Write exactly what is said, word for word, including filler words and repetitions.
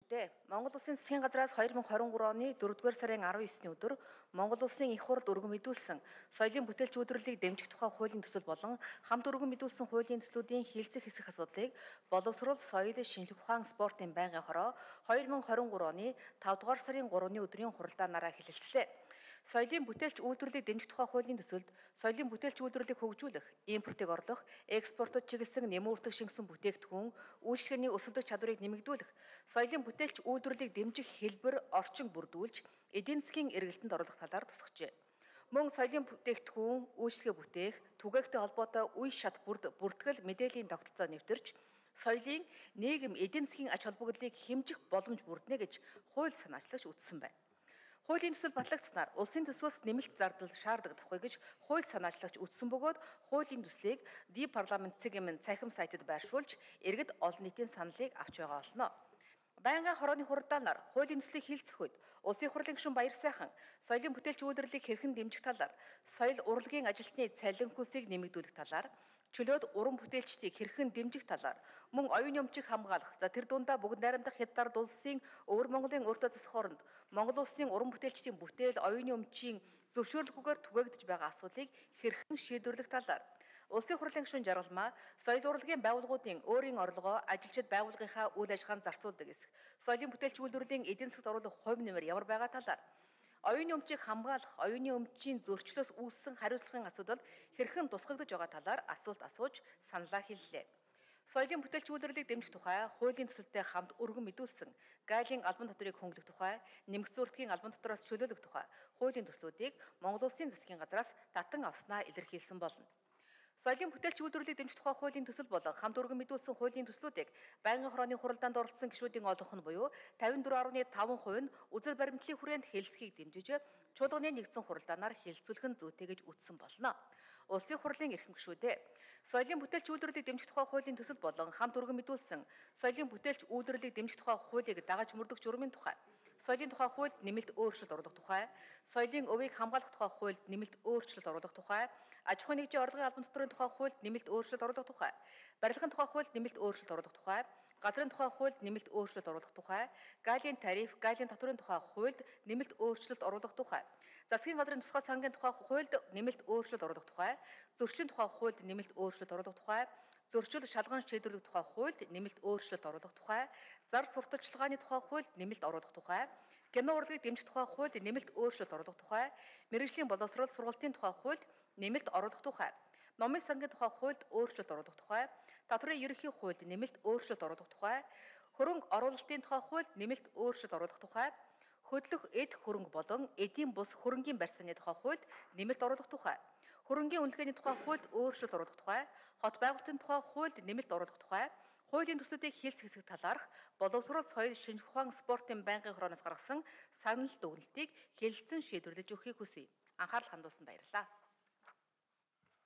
дээ. Монгол Улсын засгийн газраас хоёр мың хорин гурав оны дөрөвдүгээр сарын арван есний өдөр Монгол Улсын их хурд өргөн мэдүүлсэн соёлын бүтээлч үйлдвэрлэлийг дэмжих тухай хуулийн төсөл болон хамт өргөн мэдүүлсэн хуулийн төслүүдийн хилцэх хэсэх асуудлыг боловсрол, соёл, шинжлэх ухаан, спортын байнгын хороо хоёр мың хорин гурав оны тавдугаар сарын гуравны өдрийн хуралдаанаараа хэлэлцлээ. Соёлын бүтээлч үйлдвэрлэлийг дэмжих тухай хуулийн төсөлд соёлын бүтээлч үйлдвэрлэлийг хөгжүүлэх, импортыг орлох, экспортод чиглэсэн нэмүүртэг шингэсэн бүтээгдэхүүн, үйлчлэгээний өрсөлдөх чадварыг нэмэгдүүлэх, соёлын бүтээлч үйлдвэрлэлийг дэмжих хэлбэр, орчин бүрдүүлж, эдийн засгийн эргэлтэнд оруулах талаар тусгажээ. Мөн соёлын бүтээгдэхүүн, үйлчлэгээ бүтээх, түгээгтэй холбоотой үе шат бүрд бүртгэл мэдээллийн тогтолцоо нэвтэрч, соёлын нийгэм эдийн засгийн ач холбогдлыг хэмжих боломж бүрднэ гэж хууль санаачлагч үзсэн байна. Хуулийн төсөл батлагдсанаар улсын төсвөөс нэмэлт зардал шаардагдахгүй гэж хууль санаачлагч үзсэн бөгөөд хуулийн төслийг ди парламент цэгийн цахим сайтад байршуулж иргэд олон нийтийн саналыг авч байгаа болно. Байнгын хорооны хуралдаанаар хуулийн төслийг хилцэх үед улсын хурлын гишүүн Баяр сайхан соёлын бүтээлч үйлдвэрлэлийг хэрхэн дэмжих талаар, соёл урлагийн ажилтны цалин хөлсийг нэмэгдүүлэх талаар, чөлөөт уран бүтээлчдийг хэрхэн дэмжих талаар, мөн оюуны өмчийг хамгаалах, за тэр дундаа бүгд найрамдах хятад улсын өвөр Монголын өөртөө засах оронд Монгол улсын уран бүтээлчдийн бүтээл, оюуны өмчийн зөвшөөрлөггүйгээр түгээгдэж байгаа асуудлыг хэрхэн шийдвэрлэх талаар, улсын хурлын гишүүн Жаргалмаа соёл урлагийн байгууллагуудын өөрийн орлогоо ажилчид байгууллагынхаа үйл ажиллагаанд зарцуулдаг эсэх, соёлын бүтээлч үйлдвэрлэлийн эдийн засгт оруулах хувь нэмэр ямар байгаа талаар, оюуны өмчийг хамгаалах, оюуны өмчийн зөрчлөөс үүссэн хариуцлагын асуудал хэрхэн тусгагдж байгаа талаар асуулт асууж саналаа хэллээ. Соёлын бүтээлч үйлдвэрлэлийг дэмжих тухай хуулийн төсөлтэй хамт өргөн мэдүүлсэн гайлын албан татварыг хөнгөлөх тухай, нэмэгц зургийн албан татвараас чөлөөлөх тухай хуулийн төслүүдийг Монгол Улсын засгийн газраас татан авснаа илэрхийлсэн болно. Соёлын бүтээлч үйлдвэрлэлийг дэмжих тухай хуулийн төсөл болон хамт өргөн мэдүүлсэн хуулийн төслүүдийг байнгын хорооны хуралдаанд оролцсон гишүүдийн олонх нь буюу тавин дөрвөн гаруй таван хувь нь үзэл баримтлалын хүрээнд хэлэлцэхийг дэмжиж чуулганы нэгдсэн хуралдаанаар хэлэлцүүлэх нь зүйтэй гэж үзсэн болно. Улсын хурлын эрхэм гишүүдээ соёлын бүтээлч үйлдвэрлэлийг дэмжих тухай хуулийн төсөл болон хамт өргөн мэдүүлсэн соёлын бүтээлч үйлдвэрлэлийг дэмжих тухай хуулийг дагаж мөрдөх журмын тухай, соёлын тухай хуульд нэмэлт өөрчлөлт оруулах тухай, соёлын өвийг хамгаалах тухай хуульд нэмэлт өөрчлөлт оруулах тухай, аж ахуйн нэгжийн орлогын албан татварын тухай хуульд нэмэлт өөрчлөлт оруулах тухай, барилгын тухай хуульд нэмэлт өөрчлөлт оруулах тухай, газрын тухай хуульд нэмэлт өөрчлөлт оруулах тухай, галийн тариф, галийн татварын тухай хуульд нэмэлт өөрчлөлт оруулах тухай, засгийн газрын тусгай сангийн тухай хуульд нэмэлт өөрчлөлт оруулах тухай, зөрчлийн тухай хуульд нэмэлт өөрчлөлт оруулах тухай, зөрчил шалган шийдвэрлэх тухай хуульд нэмэлт өөрчлөлт оруулах тухай, зар сурталчилгааны тухай хуульд нэмэлт оруулах тухай, кино урлагийг дэмжих тухай хуульд нэмэлт өөрчлөлт оруулах тухай, мэргэжлийн боловсрол сургалтын тухай хуульд нэмэлт оруулах тухай, номын сангийн тухай хуульд өөрчлөлт оруулах тухай, татварын ерөнхий хуульд нэмэлт өөрчлөлт оруулах тухай, хөрөнгө оруулалтын тухай хуульд нэмэлт өөрчлөлт оруулах тухай, хөдлөх эд хөрөнгө болон эдийн бус хөрөнгийн барьцааны тухай хуульд нэмэлт оруулах тухай, хөрөнгийн үнэлгээний тухай хуульд өөрчлөлт оруулах тухай, хот байгуулалтын тухай хуульд нэмэлт оруулах тухай, хуулийн төслүүдийг хилцэх хэсэг талаарх боловсрол, соёл, шинжлэх ухаан, спортын байнгын хорооноос гаргасан санал дүгнэлтийг хэлэлцэн шийдвэрлэж өгөхийг хүсье. Анхаарал хандуулсанд баярлалаа.